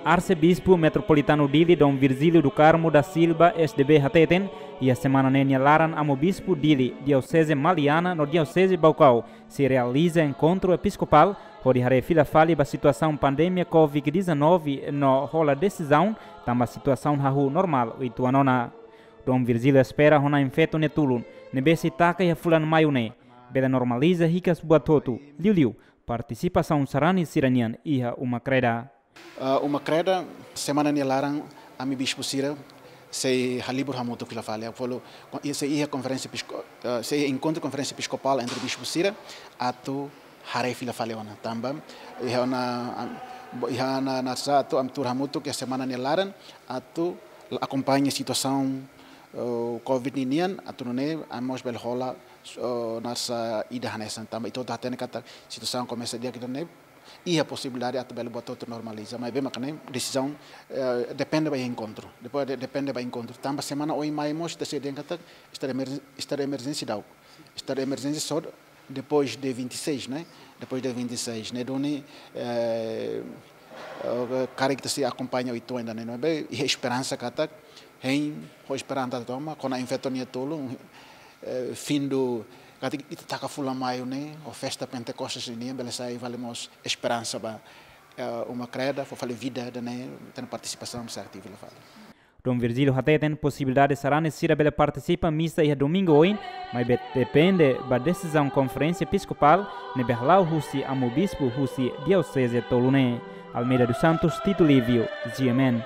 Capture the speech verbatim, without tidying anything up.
Arsebispu Metropolitanu Dili, Dom Virgílio do Carmo da Silva, S D B, hateten, iha semana ne'e nia laran Amu Bispu Dili, Dioseze Maliana no Dioseze Baucau, sei realiza enkontru episkopál hodi haree fila fali ba situasaun pandemia covid dezanove no hola desizaun tanba situasaun hahú normál uitoan ona. Dom Virgílio espera ho na'in-feto nia tulun, ne'ebé sei taka iha fulan Maiu ne'e, bele normaliza hikas buat hotu, liuliu partisipasaun sarani sira-nian iha uma kreda. Ah, uma kreda, semana nia laran ami bispu sira sei halibur hamutuk fila fali. Ha'u fó-, sei iha konferénsia episko-, ah, sei iha enkontru konferénsia episkopál entre bispu sira atu haree fila fali ona. Tanba iha ona, am, bo-, iha ona nasaun atu ami tuur hamutuk iha semana nia laran atu akompaña situasaun, eh, covid ninian atu nune'e ami mós bele hola, eh, nasaun ida hanesan. Tanba ita hotu hatene katak situasaun komesa di'ak ida-ne'e, iha posibilidade atu bele buat hotu normaliza. Maibé mak ne'e desizaun, eh, depende ba enkontru. Depois de-, depende ba enkontru. Tanba semana oin mai mós ita sei dehan katak estadu emerjen-, estadu emerjénsia daudauk. Estadu emerjénsia só depois de vinte e seis, né? Depois de vinte e seis, ne'e duni, eh, eh, karik ita sei akompaña uitoan ida-ne'e, maibé iha esperansa katak, hein, ho esperansa tomak, kona-ba na'in-feto nia tulun, eh, findu, katak ita taka fulan Maiu ne'e, ho festa Pentecostes ne'e, bele sai fali mós esperansa ba, eh, uma kreda, fó fali vida ida-ne'e, ita-nia partisipasaun sei ativu fali. Dom Virgílio hateten posibilidade sarani sira bele partisipa misa iha domingu oin, maibé depende ba desizaun konferénsia episkopál ne'ebé hala'o husi Amu Bispu husi dioseze tolu ne'e. Almeida dos Santos, Tito Lívio, G M N.